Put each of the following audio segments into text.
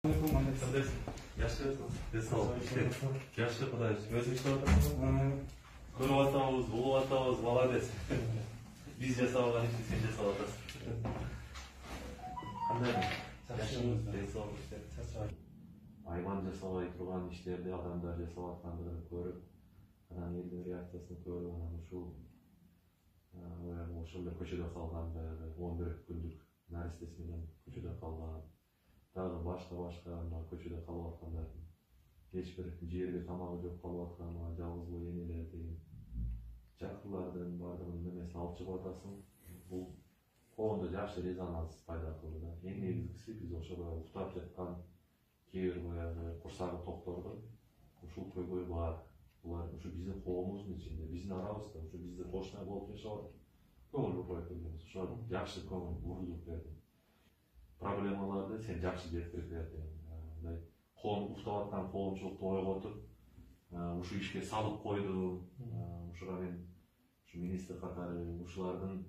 Жакшы Кудай өзүң иштеп атасың. Көрүп атабыз, угуп атабыз, молодец. Биз жасабаган ишти сен жасап атасың. Кандай? Айван жасабай турган иштерди адамдар жасап аткандыгын көрүп, анан элдин реакциясын көрүп, анан ушул эле көчөдө калган 11 күндүк наристеси менен көчөдө калган. Дагы башка көчөдө калып аткандардын эч бир жерге тамагы жок калып аткан жалгыз бой энелердин, жакынлардын баардыгынын немесин алып чыгып атасың. Бул коомдо жакшы резонанс пайда кылды да. Эң негизгиси биз ошол уктап жаткан кээ бир баягы курсагы токторду ушул көйгөй бар. Булар ушу биздин коомубуздун ичинде, биздин арабызда, ушу бизде тошной болуп жашап атат. Көңүл бурбай келебиз. Ошо жакшы көңүл бурулуп берди. Проблемаларды сен жакшы жеткирип бердиң. Мындай коом уктап аткан коомчулукту ойготуп, ушу ишке салып койдуң. Ушуга мен ушу министр катары ушулардын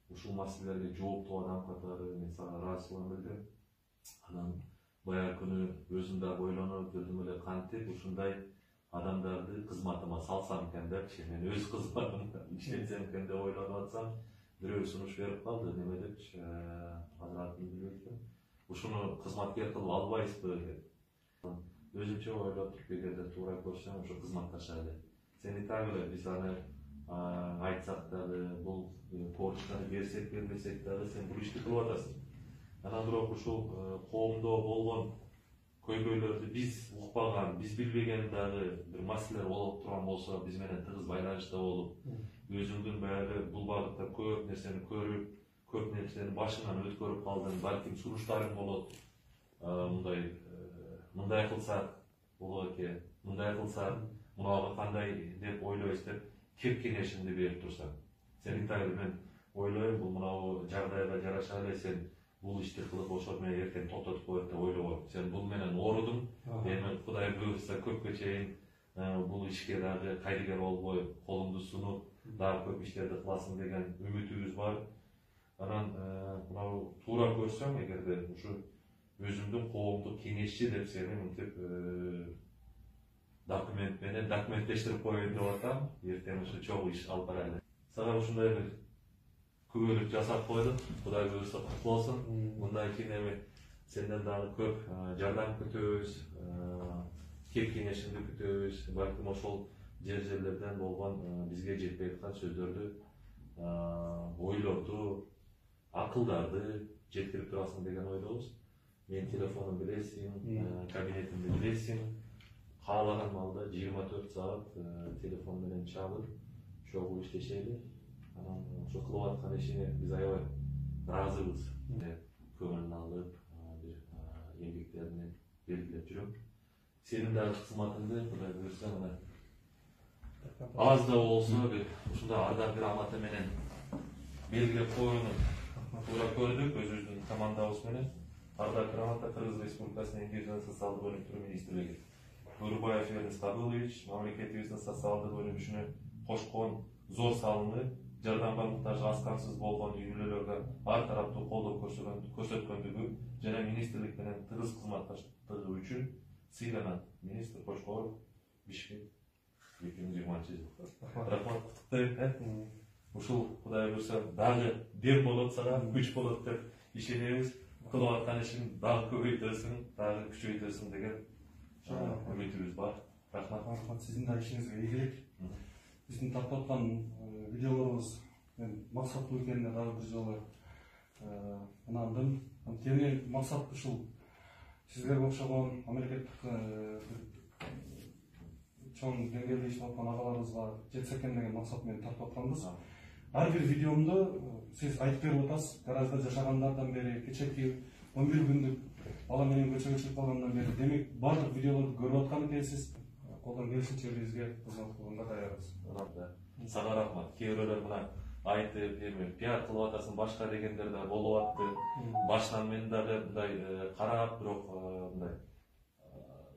ушул маселелерге жооптуу адам катары мен сага ыраазычылыгымды билдирем. Анан баягы күнү өзүм да ойлонуп жүрдүм эле, кантип ушундай адамдарды кызматыма салсам экен депчи, мен өз кызматымда иштетсем экен деп ойлонуп атсам, бирөө сунуш берип калды. Неме депчи, азыр атын билбейм. Ушуну кызматкер кылып албайсызбы деп. Өзүмчө ойлоп туруп, эгерде туура көрсөм, ушу кызматташалы. Сен и так эле биз аны айтсак дагы, бул почтаны берсек бербесек дагы сен бул ишти кылып атасың. Анан бирок ушул коомдо болгон көйгөйлөрдү биз укпаган, биз билбеген дагы бир маселелер болуп турган болсо, биз менен тыгыз байланышта болуп, өзүңдүн баягы бул багытта көп нерсени көрүп, көп нерсени башыңан өткөрүп калдың, балким сунуштарың болот. Мындай кылсак болот экен, мындай кылсак мунага кандай деп ойлойсуз деп кеп кеңешиңди берип турсаң. Сен так мен ойлойм, бул мынау жагдайга жараша эле сен бул ишти кылып ошол менен эртең токтотуп коет деп ойлобойм. Сен бул менен оорудуң. Эми Кудай буйрса көпкө чейин бул ишке дагы кайрыгер болбой, колуңду сунуп, дагы көп иштерди кыласың деген үмүтүбүз бар. Анан мынау туура көрсөм, эгерде ушу өзүмдүн коомдук кеңешчи деп сени мынтип документ менен документтештирип коеюн деп атам. Эртең ушу чогуу иш алып барайлы. Сага ушундай бир күбөлүк жасап койдук. Кудай буйрса кутлуу болсун. Мындан кийин эми сенден дагы көп жардам күтөбүз, кеп кеңешиңди күтөбүз. Балким ошол жерлерден болгон бизге жетпей аткан сөздөрдү, ойлорду, акылдарды жеткирип турасың деген ойдобуз. Мен телефонун билесиң, кабинетимди билесиң. Каалаган маалда 24 саат телефон менен чалып, чогуу иштешели. Анан ошо кылып аткан ишине биз аябай ыраазыбыз. Көңүлүн алып, бир эмгектеринен белгилеп жүрөм. Сенин дагы кызматыңды Кудай буйрса мына аз да болсо бир ушундай ардагер аматы менен белгилеп коюуну туура көрдүк өзүбүздүн командабыз менен. Ардагер амата Кыргыз Республикасынын Эмгек жана социалдык өнүктүрүү министрлиги Бурбаев Эрнест Абылович мамлекетибиздин социалдык өнүгүшүнө кошкон зор салымы, жардамга муктаж аз камсыз болгон үй бүлөлөргө ар тараптуу колдоо көрсөткөндүгү жана министрлик менен тыгыз кызматташтыгы үчүн сыйланат. Министр Кошкоров, Бишкек, 2020 жыл. Рахмат, куттуктайм. Ушул Кудай буйрса дагы дем болот сага, күч болот деп ишенебиз. Кылып аткан ишин дагы көбөйтөсүң, дагы күчөйтөсүң деген үмүтүбүз бар. Рахмат, сиздин да ишиңизге ийгилик. Биздин тартып аткан видеолорубуз максаттуу экенине дагы бир жолу ынандым. Анткени максат ушул сиздерге окшогон мамлекеттик чоң деңгээлде иштеп аткан агаларыбызга жетсе экен деген максат менен тартып атканбыз. Ар бир видеомду сиз айтып берип атасыз. Гаражда жашагандардан бери, кечээки 11 күндүк бала менен көчөгө чыгып калгандан бери, демек бардык видеолорду көрүп аткан экенсиз. Колдон келишинче бизге кызмат кылганга даярбыз. Сага рахмат. Кээ бирөөлөр мына айтып, эми пиар кылып атасың башка дегендер да болуп атты. Башынан мен дагы мындай карап, бирок мындай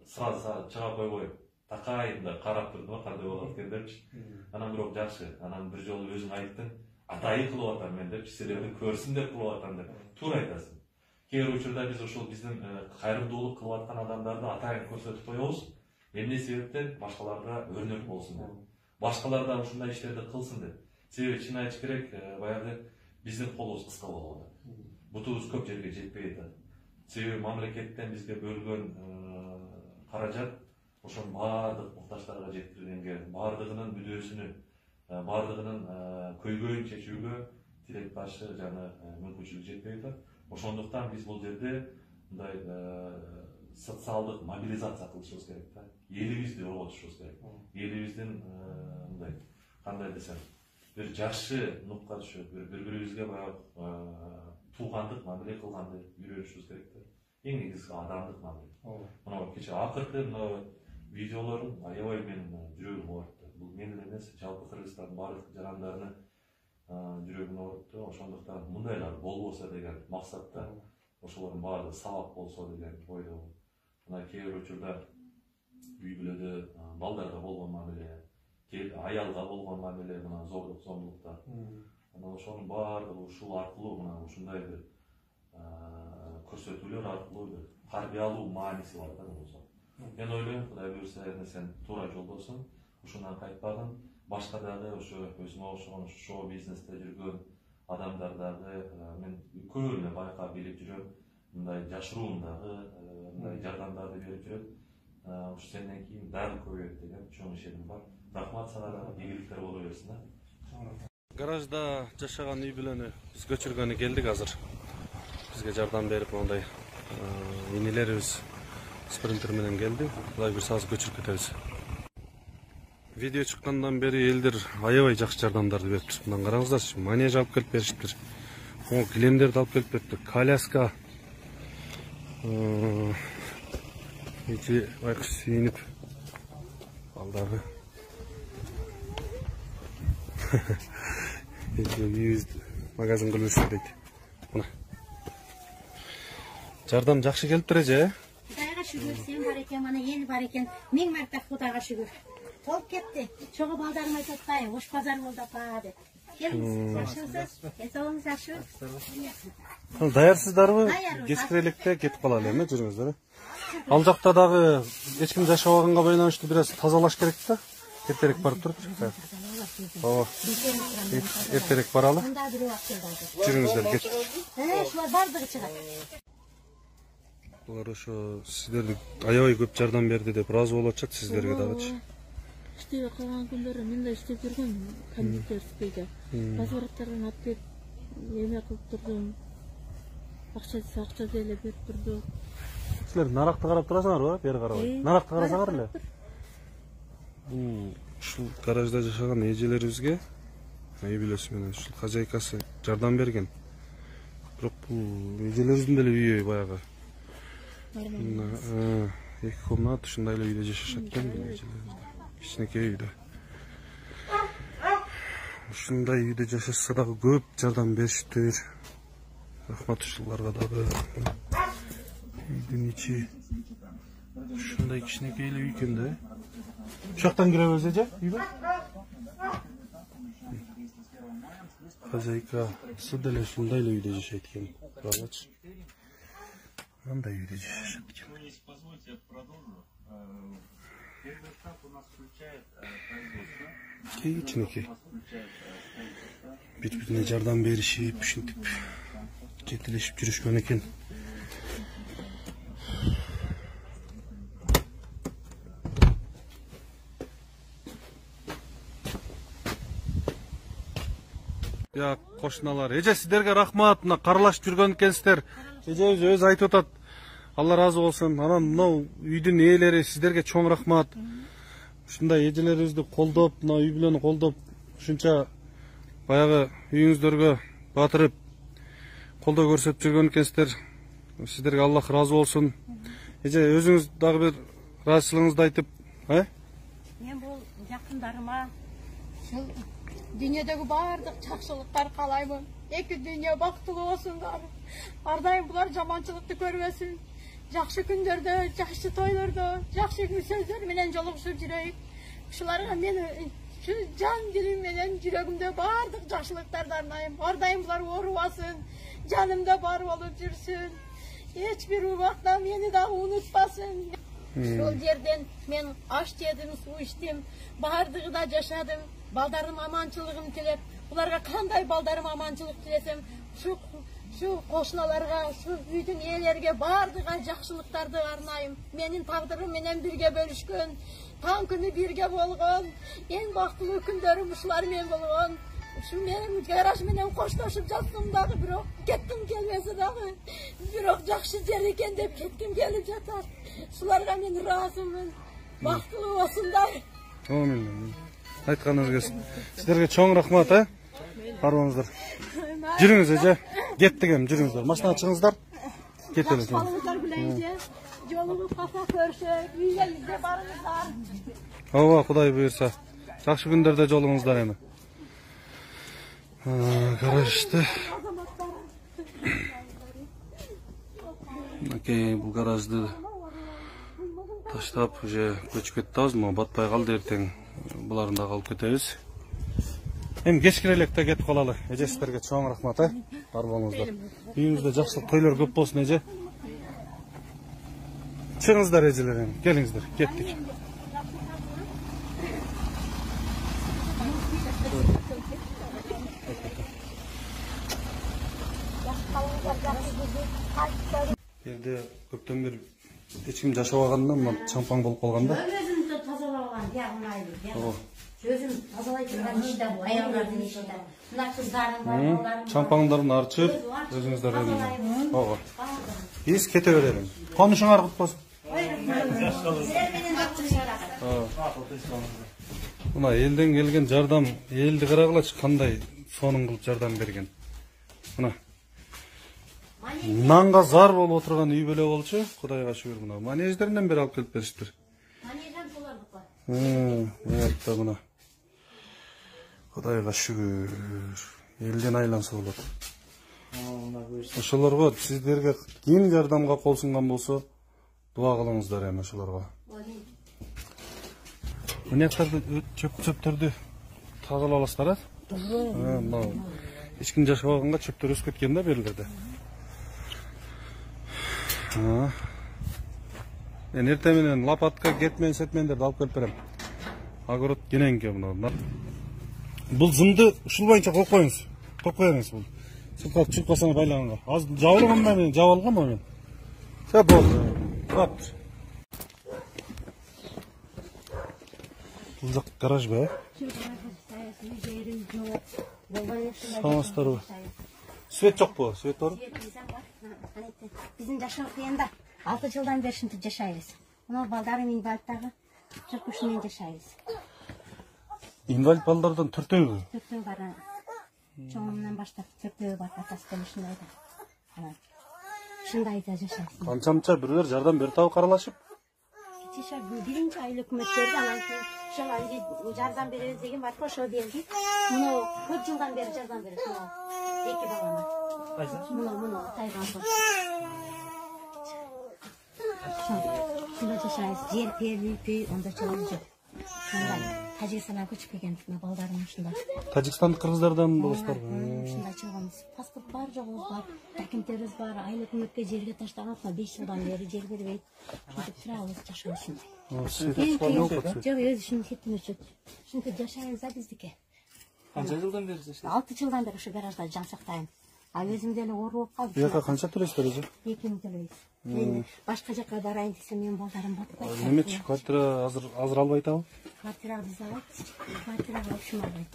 сразу чыга койбой такайын да карап турдум, кандай болот экен депчи. Анан бирок жакшы. Анан бир жолу өзүң айттың, атайын кылып атам мен депчи, силерди көрсүн деп кылып атам деп. Туура айтасың. кээ бир учурда биз ошол биздин кайрымдуулук кылып аткан адамдарды атайын көрсөтүп коебуз. Эмне себептен башкаларга өрнөк болсун деп. Башкалар да ушундай иштерди кылсын деп. Себеби чын айтыш керек, баягы биздин колубуз кыска болуп атат. Бутубуз көп жерге жетпей атат. Себеби мамлекеттен бизге бөлгөн каражат ошонун баардык муктаждарга жеткирилгенге, баардыгынын мүдөөсүнү, баардыгынын көйгөйүн чечүүгө тилек-ташы жана мүмкүнчүлүк жетпей атат. Ошондуктан биз бул жерде мындай социалдык мобилизация кылышыбыз керек да. Элибизди орготушубуз керек. Элибиздин мындай кандай десем, бир жакшы нукка түшүп, бири-бирибизге баягы туугандык мамиле кылганды үйрөнүшүбүз керек да. Эң негизги адамдык мамиле. Мына кечээ акыркы мына видеолорун аябай менин жүрөгүм оорутtu. Бул мен эле эмес, жалпы Кыргызстандын баардык жарандарынын жүрөгүн оорутtu. Ошондуктан мындайлар болбосо деген максатта ошолордун баардыгы сабак болсо деген ойдомун. Мына кээ бир учурда үй бүлөдө балдарга болгон мамиле, аялга болгон мамиле, мына зордук, зомбулуктар. Мына ошонун баардыгы ушул аркылуу, мына ушундай бир көрсөтүүлөр аркылуу бир тарбиялуу мааниси бар да болсо. Мен ойлойм, Кудай буйрса, сен туура жолдосуң, ушундан кайтпагын, башка дагы ошо өзүмө окшогон шоу бизнесте жүргөн адамдар дагы мен көбүнө байкап билип жүрөм, мындай жашыруундагы мындай жардамдарды берип жүрөт. Ушу сенден кийин дагы көбөйөт деген чоң ишеним бар. Рахмат сага дагы, ийгиликтер боло берсин да. Гаражда жашаган үй бүлөнү биз көчүргөнү келдик азыр. Бизге жардам берип мондай инилерибиз спринтер менен келди. Кудай буйрса азыр көчүрүп кетебиз. Видео чыккандан бери элдер аябай жакшы жардамдарды бериптир. Мындан караңыздарчы, манеж алып келип беришиптир. Могу килемдерди алып келип бериптир. Коляска. Эти байкуш сүйүнүп балдары. Үйүбүздү магазин кылып жүрсө дейт. Мына. Жардам жакшы келиптир эже. Кудайга шүгүр, сен бар экен, мана эл бар экен. Миң марта Кудайга шүгүр. Толуп кетти. Чогуу балдарым айтып атпайбы, ош базар болду апа деп. Келиңиз, жакшымысыз? Эсогуңуз жакшыбы? Даярсыздарбы? Кечки электе кетип калалы эми, жүрүңүздөр. Ал жакта дагы эч ким жашабаганга байланыштуу бир аз тазалаш керек да. Эртерээк барып турупчу. Ооба. Эртерээк баралы. Жүрүңүздөр кет. Шулар бардыгы чыгат. Булар ошо сиздерди аябай көп жардам берди деп ыраазы болуп атышат сиздерге дагычы. Иштебей калган күндөрү мен да иштеп жүргөм кондитерскийде. Возвраттардан алып келип эме кылып турдум. Акча деле берип турду. Силер наракты карап турасыңарбы? Бери карабай. Наракты карасаңар эле. Ушул гаражда жашаган эжелерибизге үй бүлөсү менен ушул хозяйкасы жардам берген. Бирок бул эжелерибиздин деле үйү баягы. Эки комнат ушундай эле үйдө жашашат экен эжелерибиз. Кичинекей үйдө. Ушундай үйдө жашашса дагы көп жардам беришиптир. Рахмат ушуларга дагы. Үйдүн ичи ушундай кичинекей эле үй экен да. Ушактан киребиз эже, үйгө. Хозяйкасы деле ушундай эле үйдө жашайт экен. Карачы. Мындай үйдө жашашат экен. Если позволите, я продолжу. Первый этап у нас включает производство. Кичинекей. Бири-бирине жардам беришип, ушинтип жетелешип жүрүшкөн экен. Я кошуналар, эже сиздерге рахмат, мына каралашып жүргөн экенсиздер. Эжебиз өзү айтып атат. Алла разы болсун. Анан мынау үйдүн ээлери сиздерге чоң рахмат. Ушундай эжелерибизди колдоп, мына үй бүлөнү колдоп, ушунча баягы үйүңүздөргө батырып колдоо көрсөтүп жүргөн экенсиздер. Сиздерге Аллах разы болсун. Эже өзүңүз дагы бир ыраазычылыгыңызды айтып, Мен бул жакындарыма ушул дүйнөдөгү баардык жакшылыктар каалаймын. Эки дүйнө бактылуу болсундар. Ар дайым булар жаманчылыкты көрбөсүн. Жакшы күндөрдө, жакшы тойлордо, жакшы сөздөр менен жолугушуп жүрөйүк. Ушуларга мен жан дилим менен жүрөгүмдө баардык жакшылыктарды арнайм. Ар дайым булар оорубасын, жанымда бар болуп жүрсүн. эч бир убакта мени дагы унутпасын. Сол жерден мен аш жедим, суу ичтим, баардыгы да жашадым. Балдарым аманчылыгын тилеп, буларга кандай балдарым аманчылык тилесем, şu кошуналарга, şu үйдүн ээлерге баардыгына жакшылыктарды арнайым. Менин тагдырым менен бирге бөлүшкөн, таң күнү бирге болгон, эң бактылуу күндөрүм ушулар менен болгон. Şu менин гараж менен коштошуп жаттым дагы, бирок кеттим келбесе дагы, бирок жакшы жер экен деп кетким келип жатат. Шуларга мен ыраазымын. Бактылуу болсундар. Амин. Айтканыңыз келсин. Сиздерге чоң рахмат, барыңыздар. Жүрүңүз эже. Кеттик эми, жүрүңүздөр. Машинага чыгыңыздар. Кетели. Балыңыздар билен же, жолуңуз калса көрүшөк, үйгө барыңыздар. Ооба, Кудай буйрса. Жакшы күндөрдө жолуңуздар эми. Гаражды. Окей, бул гаражды таштап уже көчүп кетебиз, но батпай калды эртең. Буларын дагы алып кетебиз. Эми кечкире элек да кетип калалы. Эже сиздерге чоң рахмат, бар болуңуздар. Үйүңүздө жакшылык тойлор көп болсун, эже. Чыгыңыздар эжелер эми, келиңиздер, кеттик. Жерде көптөн бери эч ким жашабагандан чампаң болуп калганда. Өзүмдү тазалап алган, жагынайды. Өзүм тазалай турган иште бул, аялдардын ишинде. Мына кыздардын балдарым. Чампаңдарын арчып, өзүңүздөр эми. Ооба. Биз кете берели. Конушуңар кут болсун. Силер менен Мына элден келген жардам, элди карагылачы кандай сонун кылып жардам берген. Мына нанга зар болуп отурган үй бүлө болчу, Кудайга шүгүр. Мына манеждеринен бери алып келип бериштир. Манежден солардыкы. Буякта мына. Кудайга шүгүр. Элден айланса болот. Ошолорго сиздерге ким жардамга кол сунган болсо, дуа кылыңыздар эми ошолорго. Мынаяктарды чөптөрдү тазалап аласыздар, мына эч ким жашабаганга чөптөр өсүп кеткен да берлерде. Мен эртең менен лопатка, кетмен, сетмендерди алып келип берем. Огород кененки мына. Бул зымды ушул боюнча коюп коюңуз. Коюп коюңуз бул. Сыртка чыгып калсаңыз байлаганга. Азыр жабылган мен жаап алганмын мен. Все болду. Вот. Бул жак гараж бе? Саламатсыздарбы? Свет жокпу? Свет бар? Биздин жашоо кыйында 6 жылдан бери ушинтип жашайбыз. Мына балдарым инвалидтагы, чыркыш менен жашайбыз. Инвалид балдардан төртөөбү? Төртөө бар. Чоңунан баштап төртөө бар, атасы да ушундай да. Ушундай да жашайбыз. Канчамча бирөөр жардам берип табы каралашып? Кече биринчи ай өкмөт берди, анан кийин ошол жардам беребиз деген бар, ошо берди. Мына көп жылдан бери жардам берет. Эки балама. Мына тайган. Шунда жашайбыз. Жер перби, онда чоң жок. Шундай. Тажикстанга көчүп келген балдарым ушундай. Тажикстандык кыргыздардан болосуздарбы? Ушундай чыгабыз. Паспорт бар, жогубуз бар, документтерибиз бар. Айыл өкмөткө жерге таштаган 5 жылдан бери жер бербейт. Ушинтип турабыз, жашайбыз ушундай. Жок, өзү ушунун сетин өчөт. Ушинтип жашайбыз да биздики. Канча жылдан бери жашайсыз? 6 жылдан бери ушу гаражда жан сактайм. А өзүм деле оор болуп калдым. Бияка канча төлөйсүздөр өзү? 2000 төлөйбүз. Башка жака барайын десем менин балдарым батпайт. Немечи квартира азыр албайт абы? Квартира биз алат. Квартирага ушум албайт.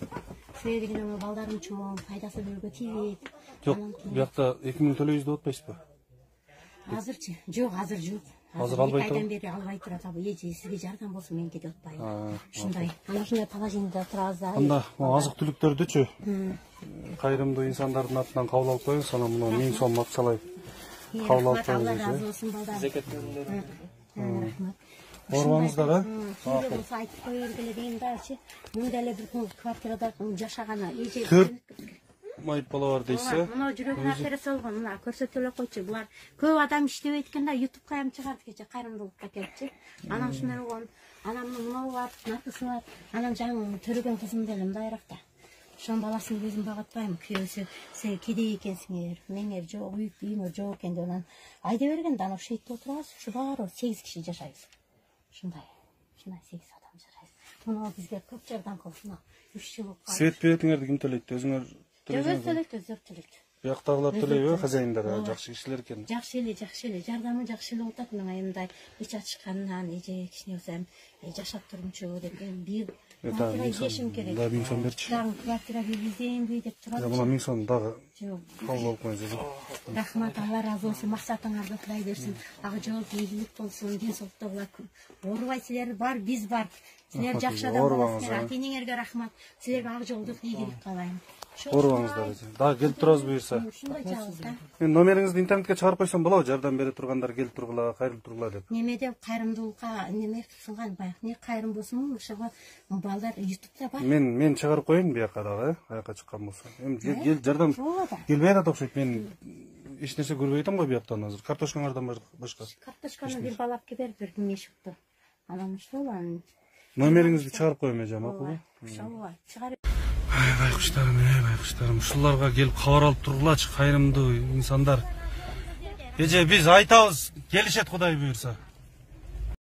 Себеби менин балдарым чоң, пайдасы бөлгө тийбейт. Жок, биякта 2000 төлөйбүз деп атпайсызбы? Азырчы? Жок, азыр жок. Азыр албайт. Айдан бери албай турат. Эже сизге жардам болсун, мен кетип атпайм. Ушундай. Ана ушундай положениеде турабыз. Анда азык түлүктөрдүчү кайрымдуу инсандардын атынан кабыл алып коюңуз, анан мына 1000 сом акчалай кабыл алып коюңуз. Алла разы болсун балдар. Зекет төлөмдөрү. Рахмат. Барбаңыздар, Кимге болсо айтып кое бергиле дейм дачы. Мен деле бир күн квартирада жашаганы эже. 4 майып бала бар дейсиз. Мына жүрөгүнө операция болгон, мына көрсөтө эле койчу. Булар көп адам иштебейт экен да, YouTubeга ham чыгарды кече кайрымдуулукка келипчи. Анан ушундай болгон. Анан мына бар, натысы бар. Анан жаңы төрөгөн кызым деле мындайракта. Ошонун баласын өзүм багып атпайм. Күйөөсү сен кедей экенсиңер, меңер жок, үйүңөр жок экен деп анан айда бергенде ана шейтте отурабыз. Ушу баары 8 киши жашайбыз. Ушундай 8 адам жашайбыз. Мына бизге көп жардам кылып, мына 3 жыл. Свет бюджетиңерди ким төлөйт? Өзүңөр Өздөр төлөйт. Бияктагылар төлөйбү? Хозяиндер жакшы кишилер экен. Жакшы эле, жардамы жакшы эле болуп атат. Мына мындай эч ачышканынан, эже кичине болсом жашап турмучу деп бир квартира жешим керек. Да 1000 сом берчи. Дагы квартира бербейсемби деп турат. Мына 1000 сом дагы Жок. кабыл болуп коюңуз. Рахмат, Алла разы болсун, максатыңарды кылай берсин. Ага жол ийгилик болсун, ден соолукта була. Оорубай силер бар, биз бар. Силер жакшы адам болосуңар. Ата-энеңерге рахмат. Силерге ак жолдук ийгилик каалайм. Оорубаңыздар. Дагы келип турабыз буюрса. Ушундай жагыз да. Мен номериңизди интернетке чыгарып койсом болобу? Жардам бере тургандар келип тургула, кайрылып тургула деп. Неме деп кайрымдуулукка неме кылган баягы не кайрым болсун, ошого балдар YouTube'да бар. Мен чыгарып коеюн бияка дагы, аяка чыккан болсо. Эми кел жардам келбей атат окшойт. Мен эч нерсе көрбөй атам го бияктан азыр. Картошкаңардан башка. Картошканы бир бала алып келип бер мешокто. Анан ушул Номериңизди чыгарып коеюн эже, макулбу? ошого чыгарып. Байкуштарым, ушуларга келип кабар алып тургулачы, кайрымдуу инсандар. Эже биз айтабыз, келишет Кудай буюрса.